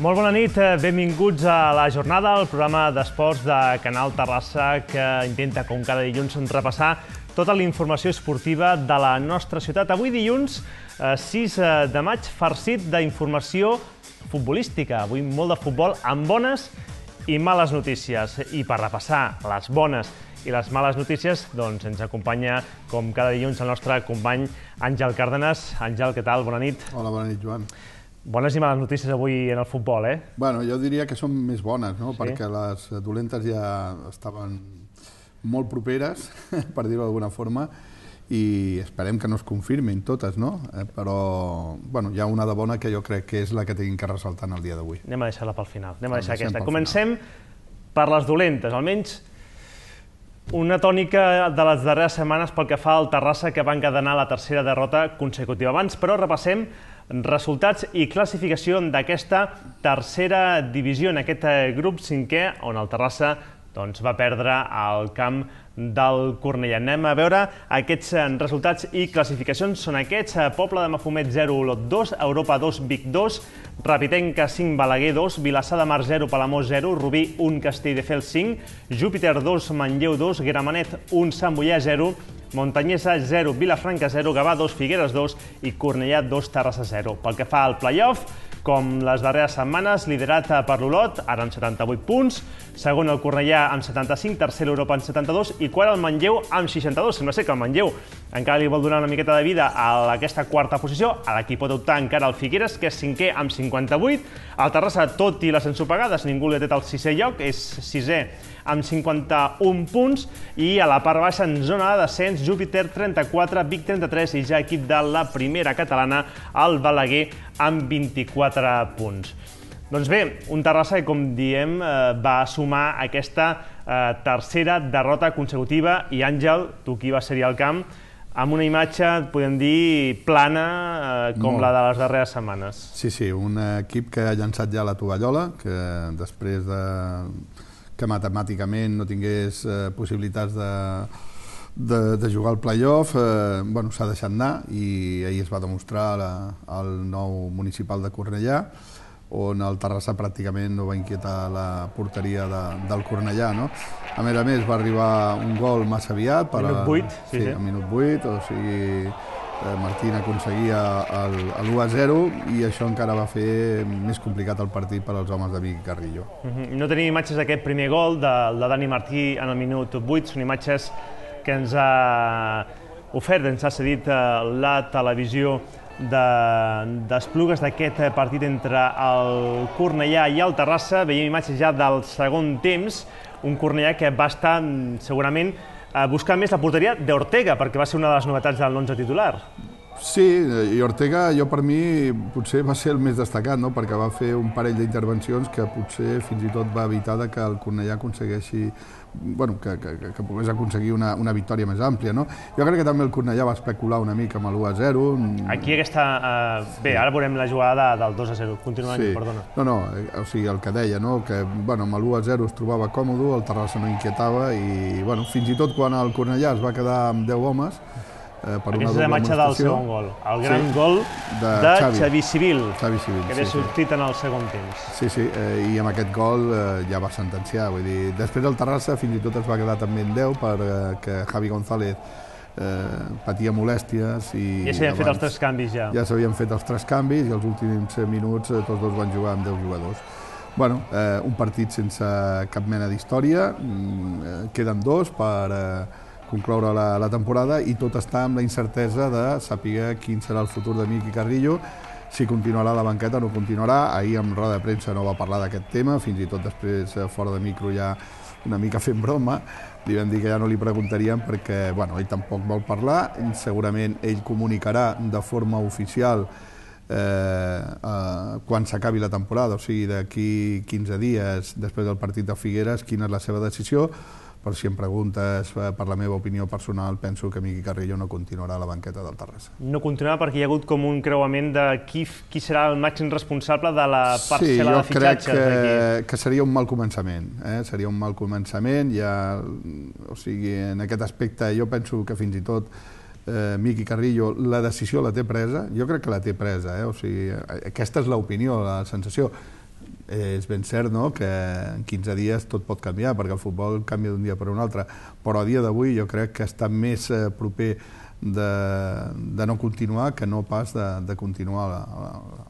Molt bona nit, benvinguts a La Jornada, el programa d'esports de Canal Terrassa que intenta, com cada dilluns, repassar tota la informació esportiva de la nostra ciutat. Avui dilluns, 6 de maig, farcit d'informació futbolística. Avui molt de futbol amb bones i males notícies. I per repassar les bones i les males notícies, doncs ens acompanya, com cada dilluns, el nostre company Àngel Cárdenas. Àngel, què tal? Bona nit. Hola, bona nit, Joan. Bones i males notícies avui en el futbol, eh? Bueno, jo diria que són més bones, no? Sí. Perquè les dolentes ja estaven molt properes, per dir-ho d'alguna forma, i esperem que no es confirmin totes, no? Però, bueno, hi ha una de bona que jo crec que és la que tenim que ressaltar en el dia d'avui. Anem a deixar-la pel final, anem a deixar aquesta. Comencem per les dolentes, almenys una tònica de les darreres setmanes pel que fa al Terrassa, que va encadenar la tercera derrota consecutiva. Abans, però, repassem resultats i classificació d'aquesta tercera divisió, en aquest grup cinquè, on el Terrassa va perdre al camp del Cornellà. Anem a veure aquests resultats i classificacions. Són aquests: Poble de Mafumet 0, Olot 2, Europa 2, Vic 2, Rapitenca 5, Balaguer 2, Vilassar de Mar 0, Palamós 0, Rubí 1, Castelldefels 5, Júpiter 2, Manlleu 2, Gramenet 1, Sant Boià 0, Montanyesa 0, Vilafranca 0, Gavà 2, Figueres 2 i Cornellà 2, Terrassa 0. Pel que fa al play-off, com les darreres setmanes, liderat per l'Olot, ara amb 78 punts, segon el Cornellà amb 75, tercer l'Europa amb 72 i quart el Manlleu amb 62. Sembla ser que el Manlleu encara li vol donar una miqueta de vida a aquesta quarta posició, a la qui pot optar encara el Figueres, que és cinquè amb 58. El Terrassa, tot i les ensopegades, ningú li ha tret el sisè lloc, és sisè amb 51 punts, i a la part baixa, en zona de descens, Júpiter 34, Vic 33 i ja equip de la primera catalana, el Balaguer amb 24 punts. Doncs bé, un Terrassa que, com diem, va sumar aquesta tercera derrota consecutiva i, Àngel, tu qui vas ser-hi al camp, amb una imatge, podem dir, plana com la de les darreres setmanes. Sí, sí, un equip que ha llançat ja la tovallola, que després que matemàticament no tingués possibilitats de jugar al play-off, s'ha deixat anar, i ahir es va demostrar al nou municipal de Cornellà, on el Terrassa pràcticament no va inquietar la porteria del Cornellà, no? A més, va arribar un gol massa aviat. Minut 8. Sí, a minut 8, o sigui, Martín aconseguia l'1-0 i això encara va fer més complicat el partit per als homes de Vic i Carrillo. No tenim imatges d'aquest primer gol de Dani Martí en el minut 8, són imatges que ens ha ofert, ens ha cedit la televisió d'Esplugues d'aquest partit entre el Cornellà i el Terrassa. Veiem imatges ja del segon temps, un Cornellà que va estar segurament buscant més la porteria d'Ortega, perquè va ser una de les novetats de l'11 titular. Sí, i Ortega, per mi, potser va ser el més destacat, no? Perquè va fer un parell d'intervencions que potser fins i tot va evitar que el Cornellà aconsegueixi, que pogués aconseguir una victòria més àmplia, no? Jo crec que també el Cornellà va especular una mica amb l'1-0. Aquí aquesta... Bé, ara veurem la jugada del 2-0. Continua, perdona. No, o sigui, el que deia, no? Que amb l'1-0 es trobava còmode, el Terrassa no inquietava i, fins i tot quan el Cornellà es va quedar amb 10 homes, aquesta és la imatge del segon gol, el gran gol de Xavi Civil, que havia sortit en el segon temps. Sí, i amb aquest gol ja va sentenciar, vull dir, després el Terrassa fins i tot es va quedar també en 10 perquè Javi González patia molèsties i... Ja s'havien fet els 3 canvis, ja. Ja s'havien fet els 3 canvis i els últims minuts tots dos van jugar amb 10 jugadors. Un partit sense cap mena d'història, queden 2 per concloure la temporada i tot està amb la incertesa de saber quin serà el futur de Vic i Carrillo, si continuarà a la banqueta o no continuarà. Ahir en roda de premsa no va parlar d'aquest tema, fins i tot després fora de micro ja una mica fent broma, li vam dir que ja no li preguntaríem perquè ell tampoc vol parlar, segurament ell comunicarà de forma oficial quan s'acabi la temporada, o sigui d'aquí 15 dies després del partit de Figueres, quina és la seva decisió. Però si em preguntes per la meva opinió personal, penso que Vic i Carrillo no continuarà a la banqueta del Terrassa. No continuarà perquè hi ha hagut com un creuament de qui serà el màxim responsable de la parcel·la de fitxatges. Sí, jo crec que seria un mal començament. Seria un mal començament. O sigui, en aquest aspecte jo penso que fins i tot Vic i Carrillo la decisió la té presa. Jo crec que la té presa. O sigui, aquesta és l'opinió, la sensació. és ben cert que en 15 dies tot pot canviar, perquè el futbol canvia d'un dia per un altre, però a dia d'avui jo crec que està més proper de no continuar que no pas de continuar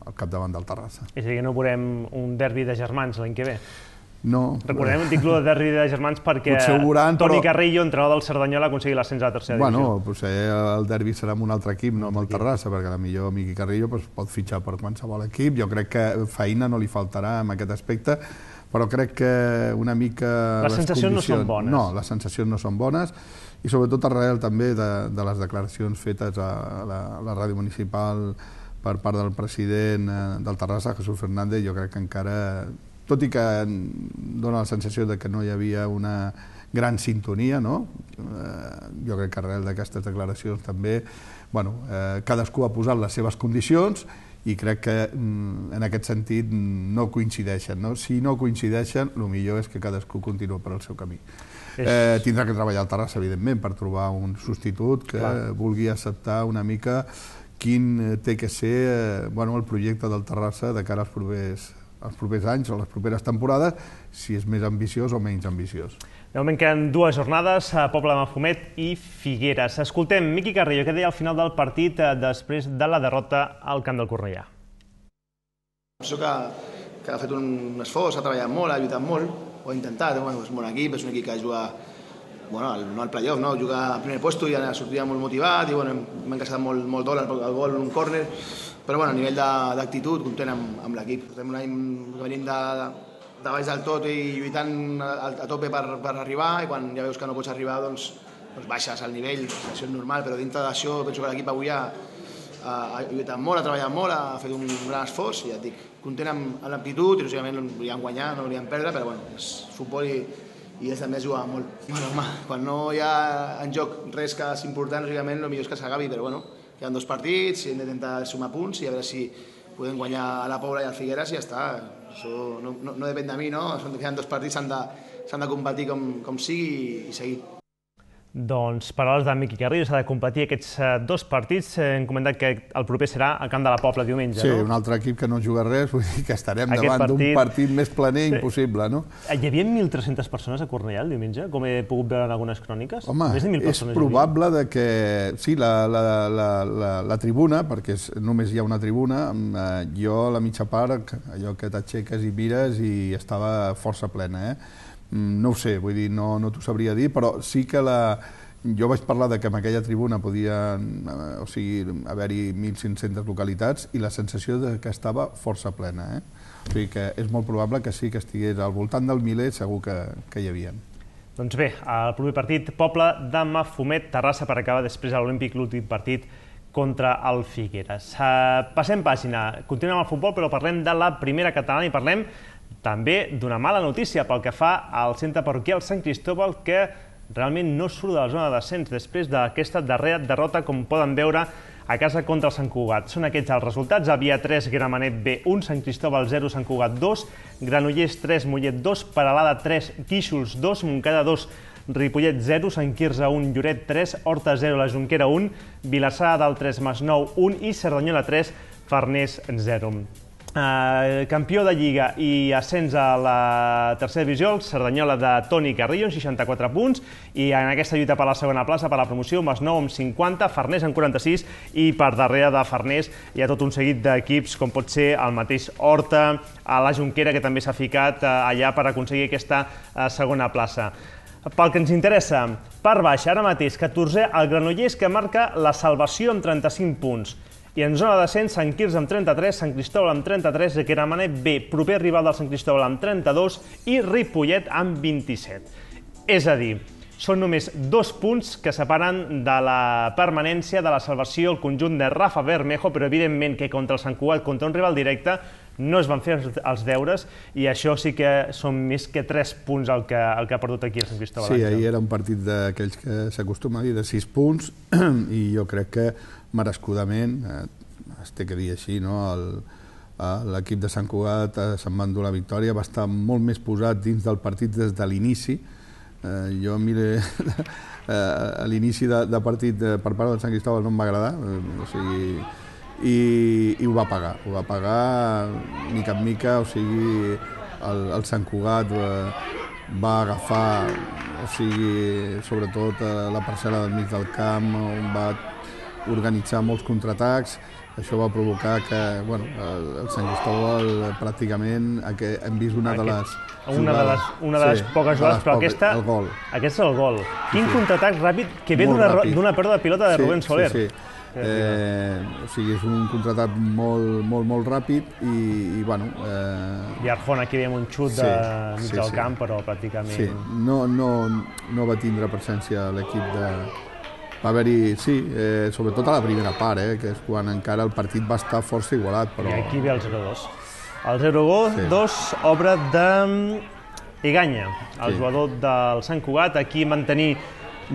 al capdavant del Terrassa. És a dir, que no veurem un derbi de germans l'any que ve? No. Recordem un títol de derbi de germans perquè Toni Carrillo, entrenador del Cerdanyola, ha aconseguit l'ascens a la tercera divisió. Bueno, potser el derbi serà amb un altre equip, no amb el Terrassa, perquè potser Miqui Carrillo pot fitxar per qualsevol equip. Jo crec que feina no li faltarà en aquest aspecte, però crec que una mica... Les sensacions no són bones. No, les sensacions no són bones, i sobretot arrel també de les declaracions fetes a la ràdio municipal per part del president del Terrassa, Jesús Fernández. Jo crec que encara, tot i que dona la sensació de que no hi havia una gran sintonia, jo crec que arrel d'aquestes declaracions també cadascú ha posat les seves condicions i crec que en aquest sentit no coincideixen. Si no coincideixen, el millor és que cadascú continua per al seu camí. Tindrà que treballar al Terrassa, evidentment, per trobar un substitut que vulgui acceptar una mica quin té que ser el projecte del Terrassa de cara als propers anys o les properes temporades, si és més ambiciós o menys ambiciós. De moment queden 2 jornades, Pobla de Mafumet i Figueres. Escoltem Miqui Carrillo, què deia al final del partit després de la derrota al camp del Cornellà. Penso que ha fet un esforç, ha treballat molt, ha lluitat molt, ho ha intentat, és un bon equip, és un equip que juga no al playoff, jugar al primer lloc i sortia molt motivat i hem encaixat molt dòlar el gol en un córner, però a nivell d'actitud contem amb l'equip. Portem un any que venim de baix del tot i lluitant a tope per arribar, i quan ja veus que no pots arribar doncs baixes el nivell, això és normal, però dintre d'això penso que l'equip avui ha lluitat molt, ha treballat molt, ha fet un gran esforç i ja et dic, content amb l'aptitud, i lògicament no volíem guanyar, no volíem perdre, però és futbol i és també jugar molt. Quan no hi ha en joc res que és important, lògicament el millor és que s'acabi, però queden 2 partits i hem d'intentar sumar punts i a veure si podem guanyar a la Pobla i al Figueres i ja està. Això no depèn de mi, queden 2 partits, s'han de competir com sigui i seguir. Doncs, paraules de Miqui Carrillo, s'ha de competir aquests 2 partits. Hem comentat que el proper serà al camp de la Pobla diumenge, no? Sí, un altre equip que no juga res, vull dir que estarem davant d'un partit més planer impossible, no? Hi havia 1.300 persones a Cornellà el diumenge, com he pogut veure en algunes cròniques? Home, és probable que... Sí, la tribuna, perquè només hi ha una tribuna, jo a la mitja part, allò que t'aixeques i mires i estava força plena, No ho sé, vull dir, no t'ho sabria dir, però sí que jo vaig parlar que en aquella tribuna podien haver-hi 1.500 localitats i la sensació que estava força plena. O sigui que és molt probable que sí que estigués al voltant del miler, segur que hi havia. Doncs bé, el proper partit, Pobla de Mafumet, Terrassa, per acabar després a l'Olímpic l'últim partit contra el Figueres. Passem pàgina, continuem amb el futbol, però parlem de la primera catalana i parlem també d'una mala notícia pel que fa al centre parroquial Sant Cristóbal, que realment no surt de la zona de descens després d'aquesta darrera derrota, com poden veure, a casa contra el Sant Cugat. Són aquests els resultats: Avia 3, Gramenet B 1, Sant Cristóbal 0, Sant Cugat 2, Granollers 3, Mollet 2, Peralada 3, Guíxols 2, Montcada 2, Ripollet 0, Sant Quirze 1, Lloret 3, Horta 0, la Jonquera 1, Vilassar del 3, Masnou 1 i Cerdanyola 3, Farners 0. Campió de Lliga i ascens a la tercera divisió, el Cerdanyola de Toni Carrillo, amb 64 punts, i en aquesta lluita per la segona plaça, per la promoció, Masnou amb 50, Farners amb 46, i per darrere de Farners hi ha tot un seguit d'equips, com pot ser el mateix Horta, a la Jonquera, que també s'ha ficat allà per aconseguir aquesta segona plaça. Pel que ens interessa, per baix, ara mateix, 14è, el Granollers, que marca la salvació amb 35 punts. I en zona de descens, Sant Quirze amb 33, Sant Cristóbal amb 33, Gramenet B, proper rival del Sant Cristóbal amb 32 i Ripollet amb 27. És a dir, són només 2 punts que separen de la permanència, de la salvació, el conjunt de Rafa Bermejo, però evidentment que contra el Sant Cugat, contra un rival directe, no es van fer els deures i això sí que són més que 3 punts el que ha perdut aquí el Sant Cristóbal. Sí, ahir era un partit d'aquells que s'acostuma a dir de 6 punts i jo crec que merescudament, es té que dir així, l'equip de Sant Cugat se'n va endur la victòria, va estar molt més posat dins del partit des de l'inici. Jo mire, l'inici de partit per part del Sant Cristóbal no em va agradar, o sigui, i ho va pagar mica en mica, o sigui, el Sant Cugat va agafar, o sigui, sobretot la parcel·la del mig del camp, on va organitzar molts contraatacs. Això va provocar que el Sant Cristóbal pràcticament hem vist una de les poques jugades, però aquesta és el gol. Quin contraatac ràpid que ve d'una pèrdua de pilota de Rubén Soler. O sigui, és un contraatac molt ràpid i I Arjona aquí veiem un xut de mig del camp, però pràcticament... Sí, no va tindre presència l'equip de... Va haver-hi, sobretot a la primera part, que és quan encara el partit va estar força igualat, però... I aquí ve el 0-2. El 0-2, obra de Iganya, el jugador del Sant Cugat. Aquí mantenir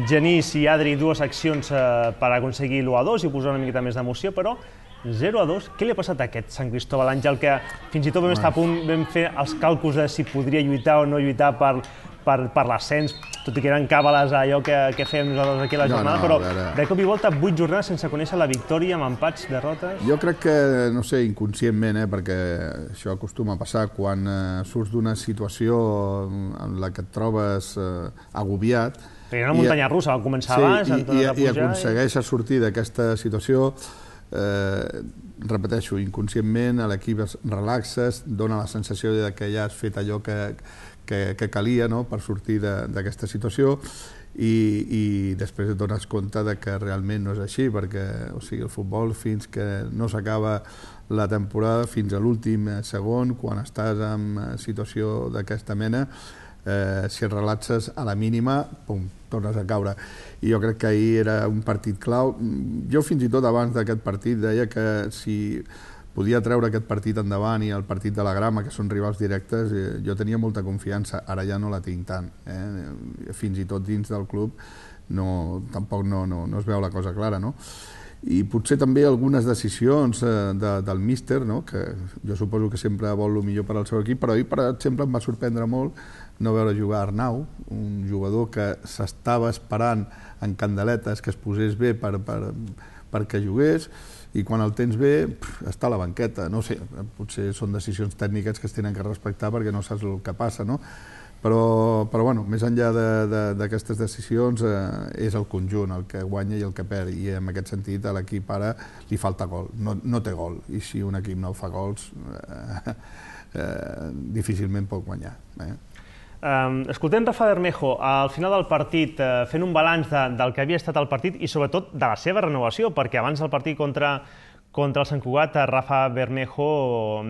Genís i Adri dues accions per aconseguir l'1-2 i posar una miqueta més d'emoció, però 0-2, què li ha passat a aquest Sant Cristóbal, Àngel, que fins i tot vam estar a punt, vam fer els càlculs de si podria lluitar o no lluitar per l'ascens, tot i que eren càbales allò que fèiem nosaltres aquí a la jornada, però de cop i volta 8 jornades sense conèixer la victòria, amb empats, derrotes... Jo crec que, no sé, inconscientment, perquè això acostuma a passar, quan surts d'una situació en la que et trobes agobiat... Perquè era una muntanya russa, va començar abans... I aconsegueixes sortir d'aquesta situació, repeteixo, inconscientment, l'equip es relaxa, dona la sensació que ja has fet allò que calia per sortir d'aquesta situació i després et dones compte que realment no és així, perquè el futbol, fins que no s'acaba la temporada, fins a l'últim segon, quan estàs en situació d'aquesta mena, si et relaxes a la mínima, pum, tornes a caure. I jo crec que ahir era un partit clau. Jo fins i tot abans d'aquest partit deia que si podia treure aquest partit endavant i el partit de la Grama, que són rivals directes, jo tenia molta confiança, ara ja no la tinc tant. Fins i tot dins del club tampoc no es veu la cosa clara, no? I potser també algunes decisions del míster, que jo suposo que sempre vol el millor per al seu equip, però ahir, per exemple, em va sorprendre molt no veure jugar Arnau, un jugador que s'estava esperant en candeletes que es posés bé perquè jugués, i quan el tens bé està a la banqueta. No sé, potser són decisions tècniques que es tenen que respectar perquè no saps el que passa, no? Però més enllà d'aquestes decisions és el conjunt el que guanya i el que perd, i en aquest sentit a l'equip ara li falta gol, no té gol, i si un equip no fa gols difícilment pot guanyar. Escoltem Rafa Bermejo al final del partit fent un balanç del que havia estat el partit i sobretot de la seva renovació, perquè abans del partit contra el Sant Cugat, Rafa Bermejo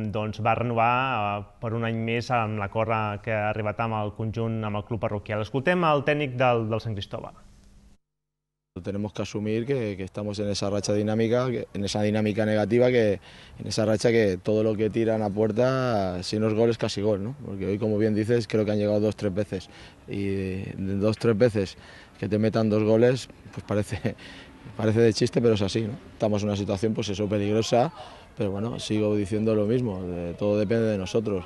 va renovar per un any més amb l'acord que ha arribat amb el conjunt, amb el club parroquial. Escoltem el tècnic del Sant Cristóbal. Tenemos que asumir que estamos en esa racha dinámica, en esa dinámica negativa, en esa racha que todo lo que tiran a puerta, si no es gol, es casi gol, ¿no? Porque hoy, como bien dices, creo que han llegado 2 o 3 veces. Y de 2 o 3 veces que te metan 2 goles, pues parece de chiste, pero es así, ¿no? Estamos en una situación, pues eso, peligrosa, pero bueno, sigo diciendo lo mismo, todo depende de nosotros.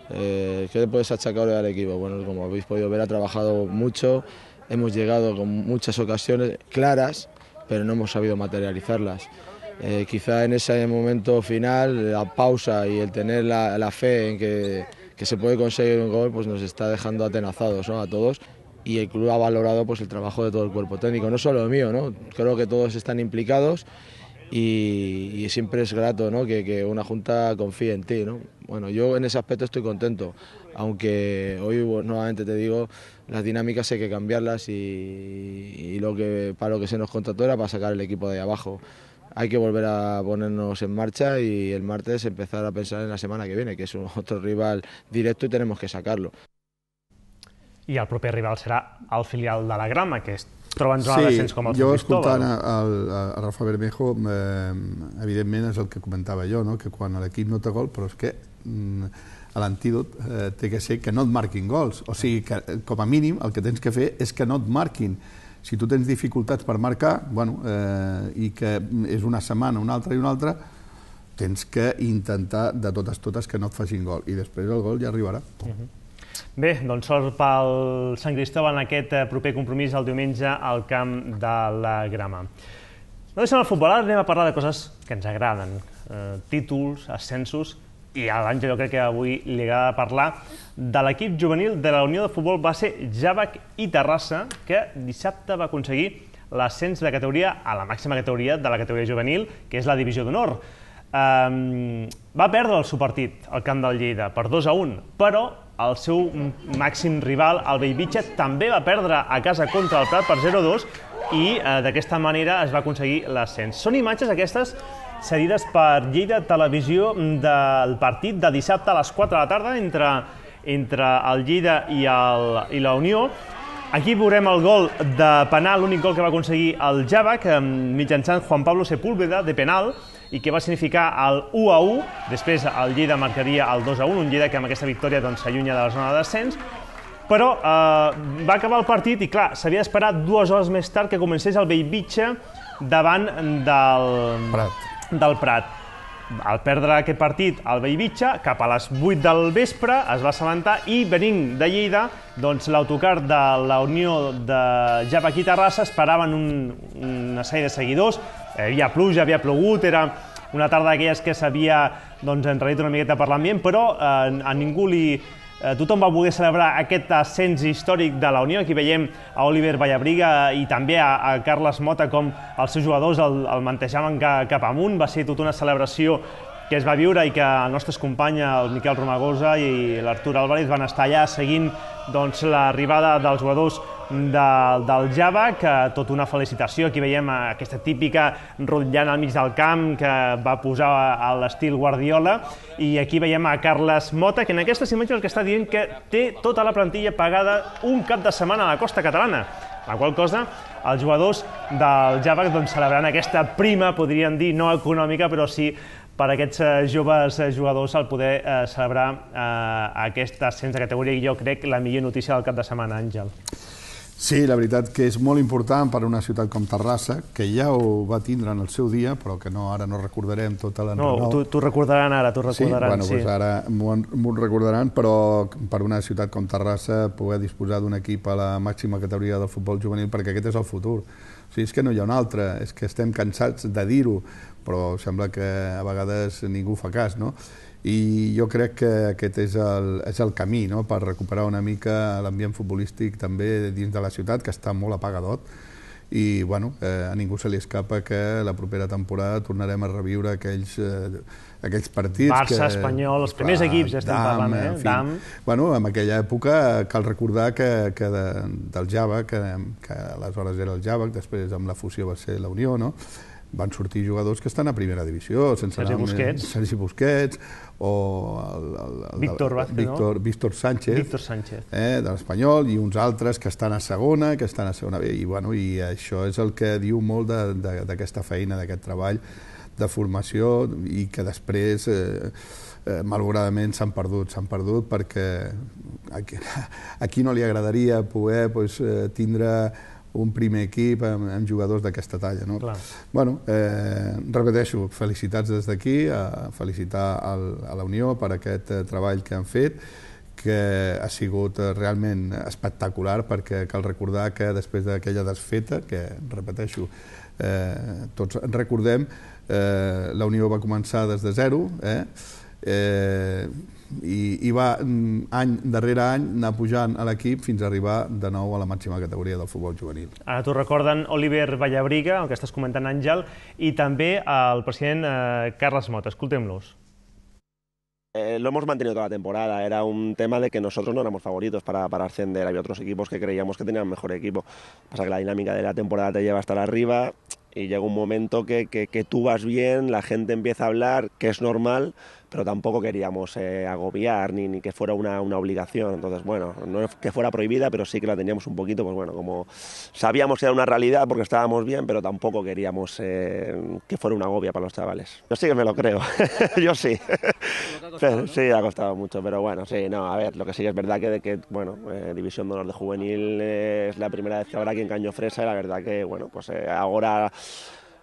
¿Qué le puedes achacar al equipo? Bueno, como habéis podido ver, ha trabajado mucho. Hemos llegado con muchas ocasiones claras, pero no hemos sabido materializarlas. Quizá en ese momento final, la pausa y el tener la fe en que se puede conseguir un gol, pues nos está dejando atenazados, ¿no? A todos. Y el club ha valorado pues el trabajo de todo el cuerpo técnico, no solo el mío, ¿no? Creo que todos están implicados y siempre es grato, ¿no? que una junta confíe en ti, ¿no? Bueno, yo en ese aspecto estoy contento, aunque hoy nuevamente te digo, las dinámicas hay que cambiarlas y para lo que se nos contrató era para sacar el equipo de ahí abajo. Hay que volver a ponernos en marcha y el martes empezar a pensar en la semana que viene, que es otro rival directo y tenemos que sacarlo. I el proper rival serà el filial de la Grama, que es troba en zona de descens com el Sant Cristóbal. Jo escoltant a Rafa Bermejo, evidentment és el que comentava jo, que quan l'equip no té gol, però és que l'antídot té que ser que no et marquin gols. O sigui, que com a mínim el que tens que fer és que no et marquin. Si tu tens dificultats per marcar, i que és una setmana, una altra, tens que intentar de totes que no et facin gol. I després el gol ja arribarà. Bé, doncs sort pel Sant Cristóbal en aquest proper compromís el diumenge al camp de la Grama. No deixem el futbol, ara anem a parlar de coses que ens agraden, títols, ascensos, i a l'Àngel jo crec que avui li agrada parlar de l'equip juvenil de la Unió de Futbol Base Javac i Terrassa, que dissabte va aconseguir l'ascens de categoria a la màxima categoria de la categoria juvenil, que és la Divisió d'Honor. Va perdre el seu partit al camp del Lleida per 2-1, però el seu màxim rival, el Bellvitge, també va perdre a casa contra el Prat per 0-2 i d'aquesta manera es va aconseguir l'ascens. Són imatges aquestes cedides per Lleida Televisió del partit de dissabte a les 4 de la tarda entre el Lleida i la Unió. Aquí veurem el gol de penal, l'únic gol que va aconseguir el Javac, mitjançant Juan Pablo Sepúlveda, de penal, i que va significar el 1-1. Després el Lleida marcaria el 2-1, un Lleida que amb aquesta victòria s'allunya de la zona de descens. Però va acabar el partit i, clar, s'havia d'esperar 2 hores més tard que comencés el Bellvitge davant del Prat. Al perdre aquest partit, el Bellvitge, cap a les 8 del vespre, es va assabentar i, venint de Lleida, doncs l'autocar de la Unió de Javac i Terrassa esperaven una sèrie de seguidors. Hi havia pluja, havia plogut, era una tarda d'aquelles que s'havia enrarit una miqueta per l'ambient, però a ningú tothom va voler celebrar aquest ascens històric de la Unió. Aquí veiem a Oliver Vallabriga i també a Carles Mota com els seus jugadors el mantejaven cap amunt. Va ser tota una celebració que es va viure i que els nostres companys, el Miquel Romagosa i l'Artur Álvarez, van estar allà seguint l'arribada dels jugadors del Javac. Tota una felicitació. Aquí veiem aquesta típica rotllana al mig del camp que va posar a l'estil Guardiola, i aquí veiem a Carles Mota, que en aquestes imatges el que està dient que té tota la plantilla pagada un cap de setmana a la costa catalana, la qual cosa els jugadors del Javac celebraran aquesta prima, podríem dir, no econòmica, però sí per a aquests joves jugadors al poder celebrar aquest ascens de categoria, i jo crec la millor notícia del cap de setmana, Àngel. Sí, la veritat que és molt important per a una ciutat com Terrassa, que ja ho va tindre en el seu dia, però que ara no recordarem tota l'enrenou. No, t'ho recordaran ara, t'ho recordaran. Sí, bueno, ara m'ho recordaran, però per una ciutat com Terrassa poder disposar d'un equip a la màxima categoria del futbol juvenil, perquè aquest és el futur. O sigui, és que no hi ha un altre, és que estem cansats de dir-ho, però sembla que a vegades ningú fa cas, no? I jo crec que aquest és el camí, no?, per recuperar una mica l'ambient futbolístic també dins de la ciutat, que està molt apagadot, i bueno, a ningú se li escapa que la propera temporada tornarem a reviure aquells partits. Barça, Espanyol, els primers equips ja estem parlant, DAM. Bueno, en aquella època cal recordar que del Javac, que aleshores era el Javac, després amb la fusió va ser la Unió, no?, van sortir jugadors que estan a primera divisió, Sergi Busquets, o Víctor Sánchez, de l'Espanyol, i uns altres que estan a segona, i això és el que diu molt d'aquesta feina, d'aquest treball de formació, i que després malauradament s'han perdut perquè a qui no li agradaria poder tindre un primer equip amb jugadors d'aquesta talla, no? Bueno, repeteixo, felicitats des d'aquí, felicitar a la Unió per aquest treball que han fet, que ha sigut realment espectacular, perquè cal recordar que després d'aquella desfeta, que, repeteixo, tots recordem, la Unió va començar des de zero, i va any darrere any anar pujant a l'equip fins a arribar de nou a la màxima categoria del futbol juvenil. Ara t'ho recorden Oliver Vallabriga, el que estàs comentant, Àngel, i també el president Carles Mota. Escoltem-los. Lo hemos mantenido toda la temporada, era un tema de que nosotros no éramos favoritos para ascender, había otros equipos que creíamos que tenían mejor equipo. Pasa que la dinámica de la temporada te lleva a estar arriba y llega un momento que tú vas bien, la gente empieza a hablar, que es normal, pero tampoco queríamos agobiar ni que fuera una obligación. Entonces, bueno, no es que fuera prohibida, pero sí que la teníamos un poquito, pues bueno, como sabíamos que era una realidad porque estábamos bien, pero tampoco queríamos que fuera una agobia para los chavales. Yo sí que me lo creo, yo sí. Pero, sí, ha costado mucho, pero bueno, sí, no, a ver, lo que sí que es verdad que bueno, División de Honor de Juvenil es la primera vez que habrá aquí en Cañofresa, y la verdad que, bueno, pues ahora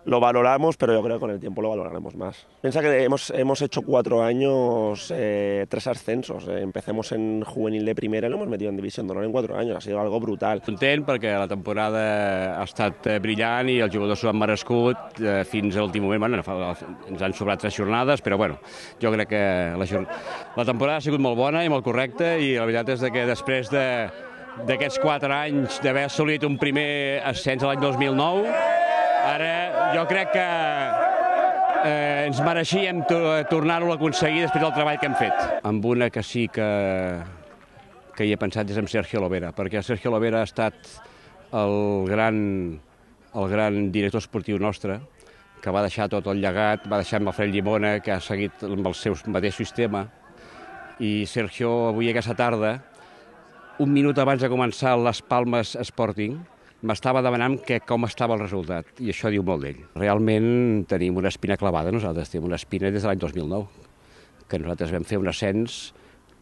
lo valoramos, pero yo creo que con el tiempo lo valoraremos más. Piensa que hemos hecho 4 años, 3 ascensos. Empecemos en juvenil de primera y lo hemos metido en división d'honor en 4 años. Ha sido algo brutal. Content perquè la temporada ha estat brillant i els jugadors s'ho han merescut fins a l'últim moment. Bueno, ens han sobrat 3 jornades, però bueno, jo crec que la temporada ha sigut molt bona i molt correcta i la veritat és que després d'aquests 4 anys d'haver assolit un primer ascens l'any 2009, ara jo crec que ens mereixíem tornar-ho a aconseguir després del treball que hem fet. Amb una que sí que hi he pensat és amb Sergio Lovera, perquè Sergio Lovera ha estat el gran director esportiu nostre, que va deixar tot el llegat, va deixar amb Alfred Llimona, que ha seguit amb el seu mateix sistema, i Sergio avui aquesta tarda, un minut abans de començar l'Las Palmas Sporting, m'estava demanant com estava el resultat, i això diu molt d'ell. Realment tenim una espina clavada, nosaltres tenim una espina des de l'any 2009, que nosaltres vam fer un ascens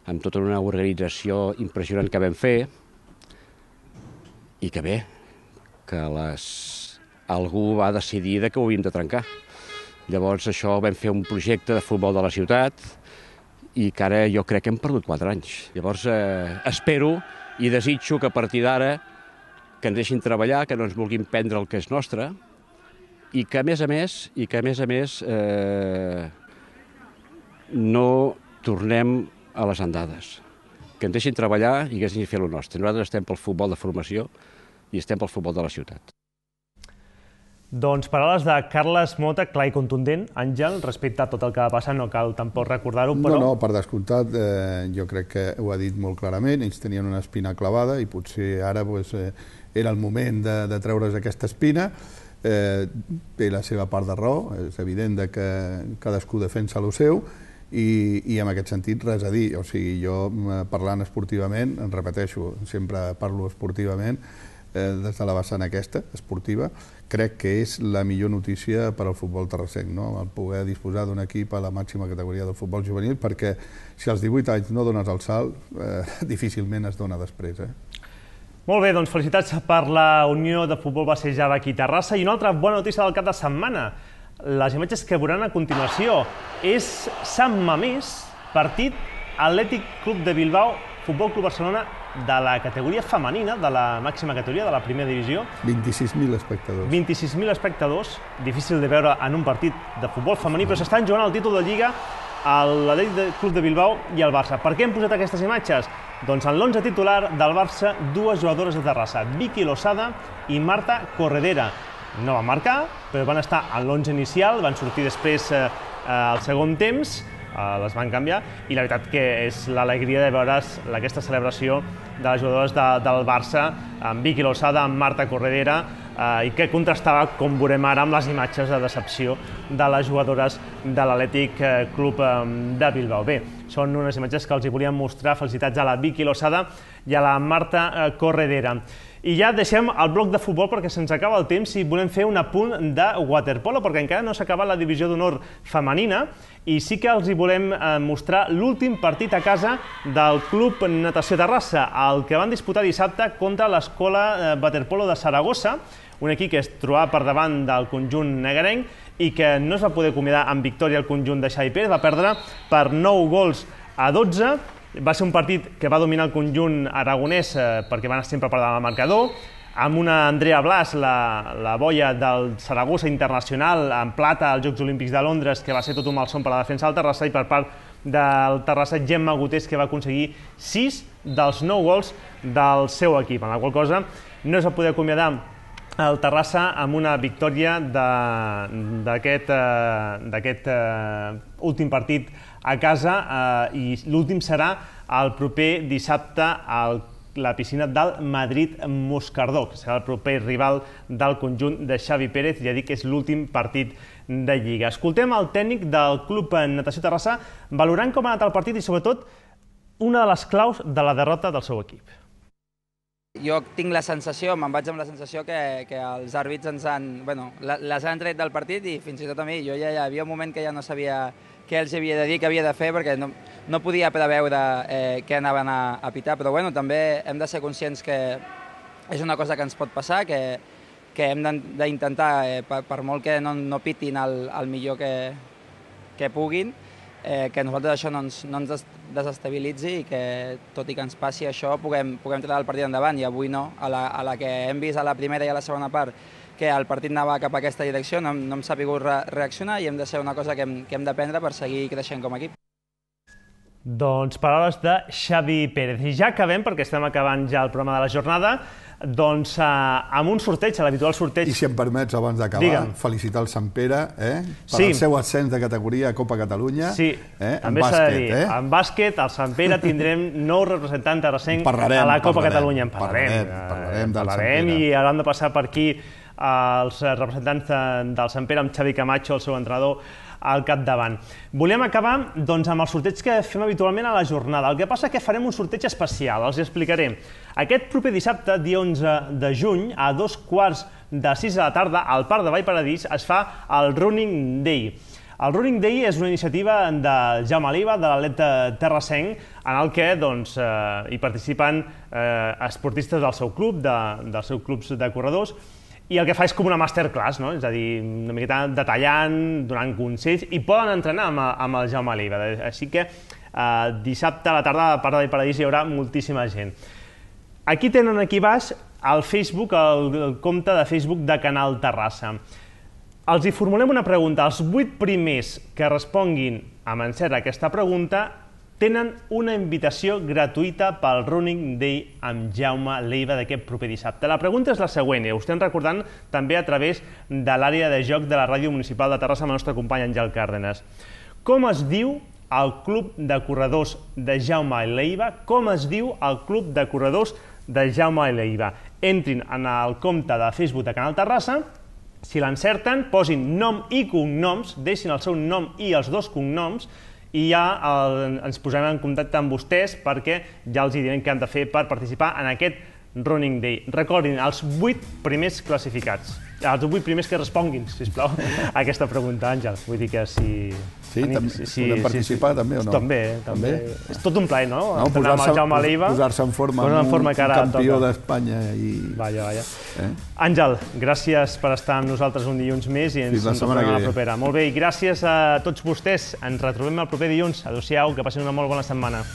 amb tota una organització impressionant que vam fer, i que bé, que algú va decidir que ho havíem de trencar. Llavors això vam fer un projecte de futbol de la ciutat, i que ara jo crec que hem perdut 4 anys. Llavors espero i desitjo que a partir d'ara que ens deixin treballar, que no ens vulguin prendre el que és nostre, i que a més a més no tornem a les andades. Que ens deixin treballar i que ens deixin fer el nostre. Nosaltres estem pel futbol de formació i estem pel futbol de la ciutat. Doncs paraules de Carles Mota, clar i contundent. Àngel, respecte a tot el que va passar, no cal tampoc recordar-ho, però... No, per descomptat, jo crec que ho ha dit molt clarament, ells tenien una espina clavada i potser ara era el moment de treure's aquesta espina. Té la seva part de raó, és evident que cadascú defensa el seu, i en aquest sentit res a dir. O sigui, jo parlant esportivament, en repeteixo, sempre parlo esportivament, des de la vessant aquesta, esportiva, crec que és la millor notícia per al futbol terrassenc, el poder disposar d'un equip a la màxima categoria del futbol juvenil, perquè si als 18 anys no dones el salt, difícilment es dona després. Molt bé, doncs felicitats per la Unió de Futbol Bassejada aquí a Terrassa. I una altra bona notícia del cap de setmana, les imatges que veuran a continuació, és Sant Mamés, partit Atlètic Club de Bilbao, Futbol Club Barcelona, de la categoria femenina, de la màxima categoria, de la primera divisió. 26.000 espectadors. 26.000 espectadors, difícil de veure en un partit de futbol femení, però s'estan jugant el títol de Lliga a l'Atlètic Club de Bilbao i al Barça. Per què hem posat aquestes imatges? Doncs en l'11 titular del Barça, 2 jugadores de Terrassa, Vicky Losada i Marta Corredera. No van marcar, però van estar en l'11 inicial, van sortir després al segon temps, les van canviar, i la veritat que és l'alegria de veure aquesta celebració de les jugadores del Barça, amb Vicky Losada, amb Marta Corredera, i que contrastava, com veurem ara, amb les imatges de decepció de les jugadores de l'Atlètic Club de Bilbao. Bé, són unes imatges que els hi volíem mostrar. Felicitats a la Vicky Losada i a la Marta Corredera. I ja deixem el bloc de futbol perquè se'ns acaba el temps i volem fer un apunt de waterpolo, perquè encara no s'ha acabat la divisió d'honor femenina, i sí que els hi volem mostrar l'últim partit a casa del Club Natació Terrassa, el que van disputar dissabte contra l'Escola Waterpolo de Saragossa, un equip que es trobava per davant del conjunt negrenc i que no es va poder acomiadar amb victòria el conjunt de Xavi Pérez, va perdre per 9-12. Va ser un partit que va dominar el conjunt aragonès perquè van sempre per davant del marcador, amb una Andrea Blas, la boia del Saragossa Internacional, en plata als Jocs Olímpics de Londres, que va ser tot un malson per la defensa del Terrassa, i per part del Terrassa, Gemma Gutés, que va aconseguir 6 dels 9 gols del seu equip, en la qual cosa no es va poder acomiadar el Terrassa amb una victòria d'aquest últim partit a casa, i l'últim serà el proper dissabte a la piscina del Madrid-Moscardó, que serà el proper rival del conjunt de Xavi Pérez. Ja dic que és l'últim partit de Lliga. Escoltem el tècnic del Club Natació Terrassa valorant com ha anat el partit i, sobretot, una de les claus de la derrota del seu equip. Jo tinc la sensació, me'n vaig amb la sensació que els àrbits les han tret del partit, i fins i tot a mi. Jo ja hi havia un moment que ja no sabia què els havia de dir, què havia de fer, perquè no podia preveure què anaven a pitar, però també hem de ser conscients que és una cosa que ens pot passar, que hem d'intentar, per molt que no pitin el millor que puguin, que nosaltres això no ens desestabilitzi i que, tot i que ens passi això, puguem treure el partit endavant. I avui no, a la que hem vist a la primera i a la segona part que el partit anava cap a aquesta direcció, no hem sabut reaccionar i hem de ser una cosa que hem d'aprendre per seguir creixent com a equip. Doncs paraules de Xavi Pérez. I ja acabem, perquè estem acabant ja el programa de la jornada, doncs amb un sorteig, l'habitual sorteig. I si em permets, abans d'acabar, felicitar el Sant Pere per el seu ascens de categoria a Copa Catalunya. Sí, també s'ha de dir. En bàsquet, al Sant Pere tindrem nou representants terrassencs a la Copa Catalunya. En parlarem i hauran de passar per aquí els representants del Sant Pere amb Xavi Camacho, el seu entrenador, al capdavant. Volem acabar amb el sorteig que fem habitualment a la jornada. El que passa és que farem un sorteig especial, els explicaré. Aquest proper dissabte, dia 11 de juny, a 2:15 de la tarda, al Parc de Vallparadís, es fa el Running Day. El Running Day és una iniciativa de Jaume Leiva, de l'Atleta terrassenc, en el que hi participen esportistes del seu club, dels seus clubs de corredors, i el que fa és com una masterclass, és a dir, una miqueta detallant, donant consells, i poden entrenar amb el Jaume Leiva. Així que dissabte a la tarda al Parc de Vallparadís hi haurà moltíssima gent. Aquí tenen aquí baix el Facebook, el compte de Facebook de Canal Terrassa. Els hi formulem una pregunta. Els 8 primers que responguin amb encert a aquesta pregunta tenen una invitació gratuïta pel Running Day amb Jaume Leiva d'aquest proper dissabte. La pregunta és la següent, i ho estem recordant també a través de l'àrea de joc de la Ràdio Municipal de Terrassa amb el nostre company Àngel Cárdenas. Com es diu el club de corredors de Jaume Leiva? Com es diu el club de corredors de Jaume Leiva? Entrin en el compte de Facebook de Canal Terrassa, si l'encerten, posin nom i cognoms, deixin el seu nom i els 2 cognoms, i ja ens posarem en contacte amb vostès perquè ja els direm què han de fer per participar en aquest Running Day. Recordin, els 8 primers classificats, els 8 primers que responguin, sisplau, a aquesta pregunta, Àngel. Vull dir que si... Sí, podem participar també o no? També. És tot un plaer, no? Posar-se en forma amb un campió d'Espanya. Vaja. Àngel, gràcies per estar amb nosaltres un dilluns més i ens retrobem a la propera. Molt bé, i gràcies a tots vostès. Ens retrobem el proper dilluns. Adéu-siau, que passin una molt bona setmana.